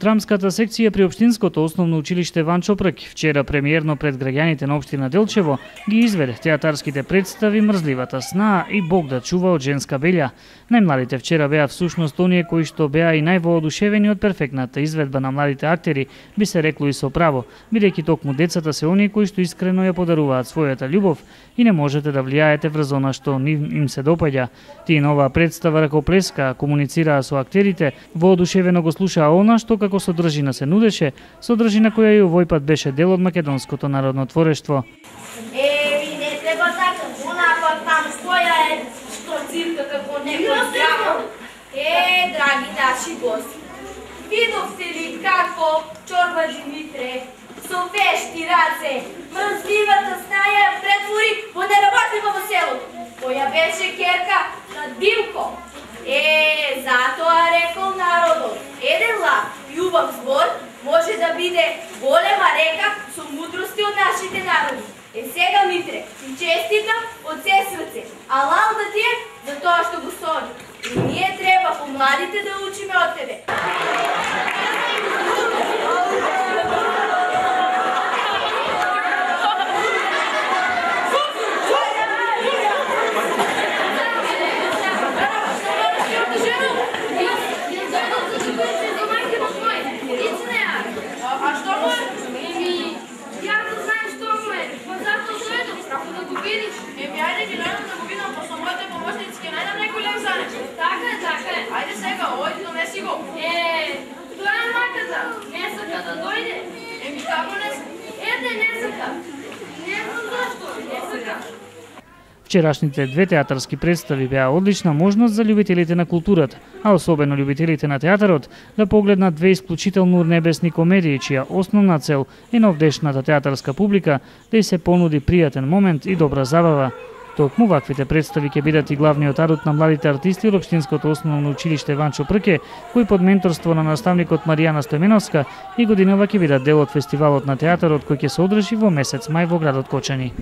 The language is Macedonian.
Драмската секција при Општинското основно училиште Ванчо Прк вчера премиерно пред граѓаните на општина Делчево ги изведе театарските представи Мрзливата сна и Бог да чува од женска белја. Најмладите вчера беа всушност оние кои што беа и највоодушевени од перфектната изведба на младите актери, би се рекло и со право, бидејќи токму децата се оние кои што искрено ја подаруваат својата љубов и не можете да влијаете врз она што им се допаѓа. Тие на оваа представа ракоплеска, комуницираа со актерите, воодушевено го слушаа она што како содржина се нудеше, содржина која и овој пат беше дел од македонското народно творештво. Не треба така, она там стоја што цирка како некој дракон. Драги наши гости, видовте ли како Чорба Димитре со вешти раце Мрзливата сна ја претвори во неработливо во селото, која беше керка на Димко. Затоа рекол народот, еден лав и убав збор може да биде голема река со мудрости од нашите народи. Сега, Митре, ти честитам од се срце, а лауда ти е за тоа што го стори. И ние треба помладите да учиме од тебе. Ајде сега, ојди, донеси го. Тоа е маката. Не сака да дојде. Како не сака? Не сака. Не знам зашто. Не сака. Вчерашните две театарски представи беа одлична можност за љубителите на културата, а особено љубителите на театарот, да погледнат две исклучително урнебесни комедии, чија основна цел е на овдешната театарска публика да ѝ се понуди пријатен момент и добра забава. Токму ваквите представи ќе бидат и главниот адут на младите артисти од Општинското основно училиште Ванчо Прке, кои под менторство на наставникот Маријана Стојменовска и годинава ќе бидат дел од фестивалот на театарот кој ќе се одржи во месец мај во градот Кочани.